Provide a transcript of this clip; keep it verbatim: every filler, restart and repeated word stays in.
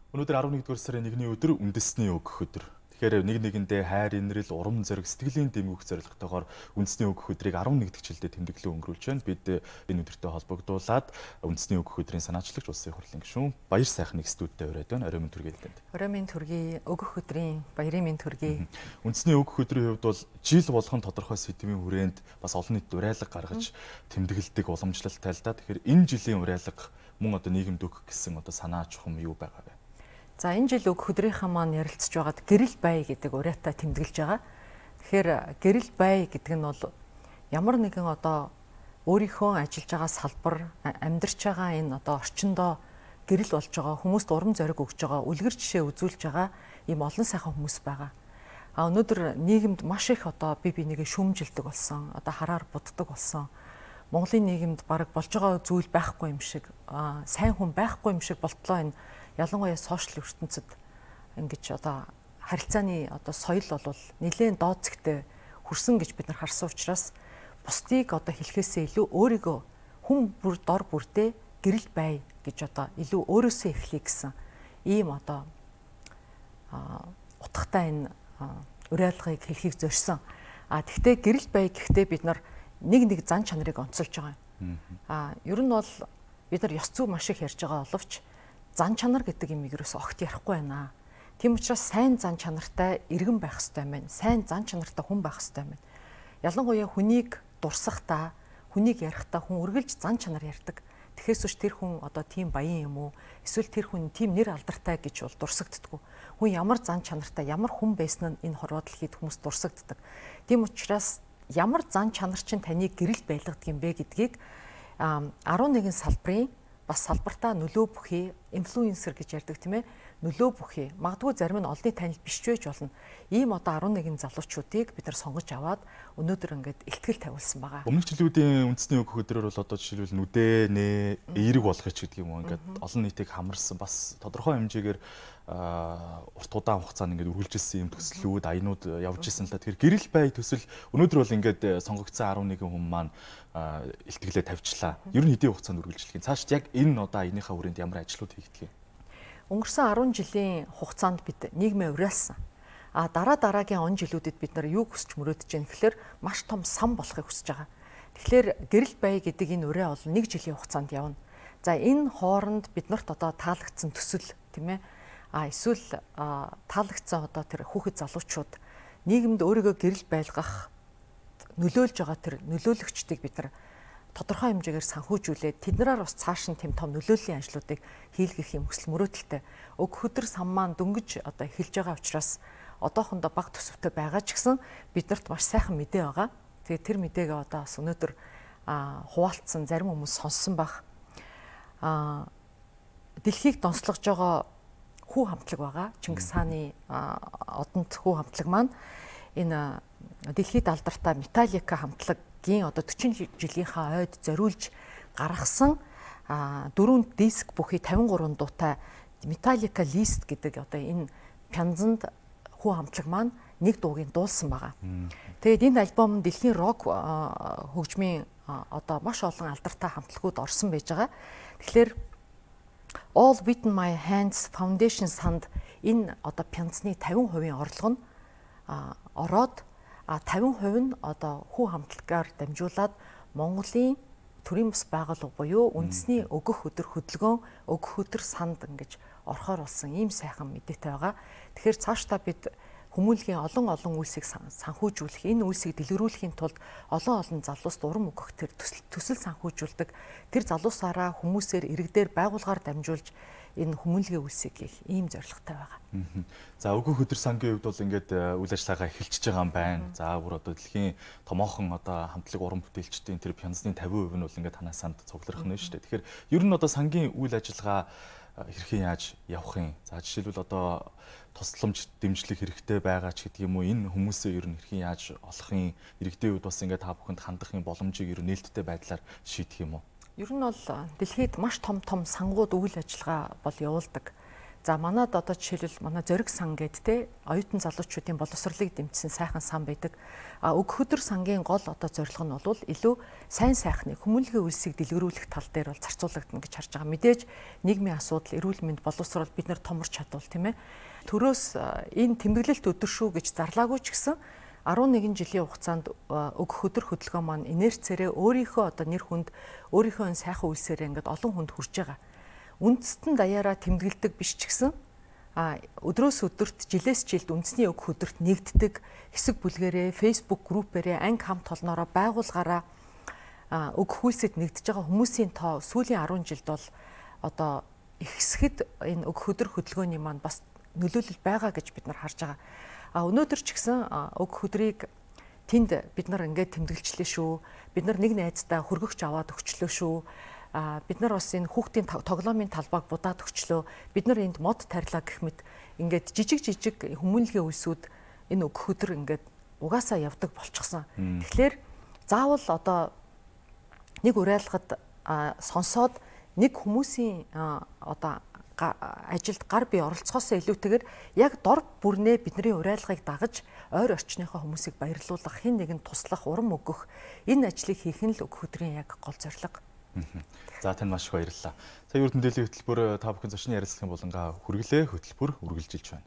Өнөөдөр арван нэгдүгээр сарын нэгний өдөр үндэсний өгөх өдөр. Тэгэхээр нэг нэгэндээ хайр, инрэл, урам зориг, сэтгэлийн дэмгэх зорилготойгоор үндэсний өгөх өдрийг арван нэг дахь жилдээ тэмдэглэн өнгөрүүлж байна. Бид энэ өдөртөө холбогдуулаад үндэсний өгөх өдрийн санаачлагч улсын хурлын гишүүн Баяр сайхныг студидтэй ураад байна. Орой минь төргийлдэнд. Орой минь төргий, өгөх өдрийн баярын минь төргий. Үндэсний өгөх өдрийн хувьд бол жил болгон тодорхой сэдвийн хүрээнд бас олон нийтэд уриалга гаргаж тэмдэглэдэг уламжлалтай л да. Тэгэхээр энэ жилийн уриалга мөн одоо нийгэмд өгөх гэсэн одоо санаа чухам юу байгаа вэ? За энэ жил өгөх өдрийнхаа маань ярилцж байгаад гэрэл бай гэдэг уриатай тэмдэглэж байгаа. Тэгэхээр гэрэл бай гэдэг нь бол ямар нэгэн одоо өөрийнхөө ажиллаж байгаа салбар, амьдарч байгаа энэ одоо орчиндөө гэрэл болж байгаа хүмүүст урам зориг өгж байгаа, үлгэр жишээ үзүүлж байгаа ийм олон сайхан хүмүүс байгаа. А өнөөдөр нийгэмд маш их одоо бие бинийгээ шүүмжилдэг болсон, одоо хараар буддаг болсон. Монголын нийгэмд бараг болж байгаа зүйл байхгүй юм шиг, сайн хүн байхгүй юм шиг болтлоо энэ ялангуяа сошиал ертөнцид ингэж одоо харилцааны одоо соёл бол нэлээд доод зэгтээ хүрсэн гэж бид нар харсан учраас бусдыг одоо хэлхээсээ илүү өөрийгөө хүн бүр дор бүрдээ гэрэл бай гэж одоо илүү өөрөөсөө эхлэе гэсэн ийм одоо утгатай энэ уриалгыг хэлхийг зорьсон. А тэгвэл гэрэл бай гэхдээ бид нар нэг нэг зан чанарыг онцолж байгаа юм. А ер нь бол бид нар ёс зүй маш их ярьж байгаа боловч зан чанар гэдэг юм ерөөс огт ярихгүй байна. Тийм учраас сайн зан чанартай иргэн байх хэрэгтэй байна. Сайн зан чанартай хүн байх хэрэгтэй байна. Ялангуяа хүнийг дурсахдаа, хүнийг ярихдаа хүн үргэлж зан чанар ярьдаг. Тэгэхээс ч тэр хүн одоо тийм баян юм уу? Эсвэл тэр хүн тийм нэр алдартай гэж бол дурсагддаггүй. Хүн ямар зан чанартай, ямар хүн байсан нь энэ хорвоо дэлхийд хүмүүс дурсагддаг. Тийм учраас ямар зан чанар чинь таныг гэрэл байлгадаг юм бэ гэдгийг арван нэгэн салбарын бас салбартаа нөлөө бүхий инфлюенсер гэж ярьдаг тийм ээ нөлөө бүхий магадгүй зарим нь олонний танил биш ч байж болно ийм одоо арван нэгэн залуучуудыг бид нар сонгож аваад өнөөдөр ингээд ихтгэл тавиулсан байгаа. Өмнөх жилүүдийн үндэсний өгөх өдрөөр бол одоо жишээлбэл нүдэ нэ эерэг болгоч гэдэг юм уу ингээд олон нийтийг хамарсан бас тодорхой хэмжээгээр урт удаан хугацаанд ингээд үргэлжилсэн юм төслүүд аянууд явж исэн л да. Тэгэхээр гэрэл бай төсөл өнөөдөр бол ингээд сонгогдсон арван нэгэн хүн маань илтгэлээ тавьчлаа. Ер нь хэдийн хугацаанд үргэлжлэх юм. Цаашд яг энэ одоо аяныхаа хүрээнд ямар ажлууд хийгдэх юм? Өнгөрсөн арван жилийн хугацаанд бид нийгмээ уриалсан. А дараа дараагийн он жилүүдэд бид нар юу хүсч мөрөөдөж байна гэхээр маш том сан болохыг хүсэж байгаа. Тэгэхээр гэрэл бай гэдэг энэ ураа бол нэг жилийн хугацаанд явна. За энэ хооронд биднэрт одоо таалагдсан төсөл тийм ээ а эсвэл таалагдсан одоо тэр хүүхэд залуучууд нийгэмд өөрийгөө гэрэл байлгах нөлөөлж байгаа тэр нөлөөлөгчдийг бид нар тодорхой хэмжээгээр санхүүжүүлээд тэднэрээр бас цааш нь тэм том нөлөөллийн ажлуудыг хийлгэх юм хүсэл мөрөөдөлтэй. Өгөх өдөр сан маань дөнгөж одоо эхэлж байгаа учраас одоохондоо бага төсөвтэй байгаа ч гэсэн биднэрт маш сайхан мэдээ байгаа. Тэгээд тэр мэдээгээ одоо бас өнөөдөр хуваалцсан зарим хүмүүс сонссон баг. А дэлхийг донслогж байгаа хүү хамтлаг байгаа. Чингис хааны одонд хүү хамтлаг маань энэ дэлхийд алдартай Металлика хамтлагийн одоо forty жилийнхаа ойд зориулж гаргасан дөрвөн диск бүхий fifty-three дуутай Металлика лист гэдэг одоо энэ пянзанд хүү хамтлаг маань нэг дуугийн дуулсан байгаа. Тэгээд энэ альбом дэлхийн рок хөгжмийн одоо маш олон алдартай хамтлагууд орсон байж байгаа. Тэгэхээр All Within My Hands Foundation санд энэ одоо пянзны fifty percent орлого нь ороод fifty percent нь одоо хүү хамтлагаар дамжуулаад Монголын төрийн бас байгууллага буюу үндэсний өгөх өдөр хөдөлгөөн өгөх өдөр санд ингэж орохоор болсон ийм сайхан мэдээтэй байгаа. Тэгэхээр цаашдаа бид хүмүүлгийн олон олон үйлсийг санхүүжүүлэх, энэ үйлсийг дэлгэрүүлэхийн тулд олон олон залууст урам өгөх тэр төсөл санхүүжүүлдэг. Тэр залуусаараа хүмүүсээр иргэдээр байгууллагаар дамжуулж энэ хүмүүлгийн үйлсийг хийх ийм зорилготой байгаа. За өгөх өдөр сангийн хувьд бол ингээд үйл ажиллагаа эхэлчихэж байгаа юм байна. За бүр одоо дэлхийн томоохон одоо хамтлаг уран бүтээлчдийн тэр пянзны fifty percent нь бол ингээд танаа санд цугларах нь шүү дээ. Тэгэхээр ер нь одоо сангийн үйл ажиллагаа хэрхэн яаж явах юм? За жишээлбэл одоо тусламж дэмжлэг хэрэгтэй байгаа ч гэдэг юм уу энэ хүмүүсээ ер нь хэрхэн яаж олох юм? Иргэдийн үед бас ингээд та бүхэнд хандах юм боломжийг ер нь нээлттэй байдлаар шийдэх юм уу? Ер нь бол дэлхийд маш том том сангууд үйл ажиллагаа бол явуулдаг. За манад одоо жишээлбэл манай зориг сан гэд те оюутан залуучуудын боловсролыг дэмжсэн сайхан сан байдаг. А өг хөдөр сангийн гол одоо зорилго нь бол илүү сайн сайхны хүмүүнлэгийн үйлсийг дэлгэрүүлэх тал дээр бол зарцуулагдана гэж харж байгаа. Мэдээж нийгмийн асуудал, эрүүл мэнд, боловсрол бид нар томорч чадвал тийм ээ. Төрөөс энэ тэмдэглэлт өдөр шүү гэж зарлаагүй ч гэсэн арван нэгэн жилийн хугацаанд өг хөдөр хөдөлгөөн маань инерцээрээ өөрийнхөө одоо нэр хүнд өөрийнхөө сайхан үйлсээрээ ингээд олон хүнд хүрж байгаа. Үндэстэн даяараа тэмдэглэдэг биш ч гэсэн а өдрөөс өдөрт жилээс жилд үндэсний өг хөдөрт нэгддэг хэсэг бүлгэрээ фейсбુક группээрээ анги хамт толноороо байгуулгаараа өг хүйсэд нэгдэж байгаа хүмүүсийн тоо сүүлийн арван жилд бол одоо ихсэхэд энэ өг хөдөр хөдөлгөөний маань бас нөлөөлөл байгаа гэж бид нар харж байгаа. А өнөөдөр ч гэсэн өг хөдрийг тэнд бид нар ингээд тэмдэглэжлээ шүү. Бид нар нэг найзтай хөргөгч аваад өгчлөө шүү. А бид нар бас энэ хүүхдийн тоглоомын талбайг будаад өгчлөө. Бид нар энд мод тарилаа гэх мэт ингээд жижиг жижиг хүмүүнлэгийн үйлсүүд энэ өг хөдөр ингээд угаасаа явдаг болчихсон. Тэгэхээр заавал одоо нэг уриалгад сонсоод нэг хүмүүсийн одоо ажилд гар бие оролцохоос илүүтэйгээр яг дор бүрнээ бидний уриалгыг дагаж ойр орчныхоо хүмүүсийг баярлуулах, хэн нэгэнд туслах, урам өгөх энэ ажлыг хийх нь л өг хөдрийн яг гол зорилго. За тань маш их баярлалаа. Сая урд мэдээллийн хөтөлбөр та бүхэн зочны ярилцлагын болонгаа хүргэлээ хөтөлбөр үргэлжилж байна.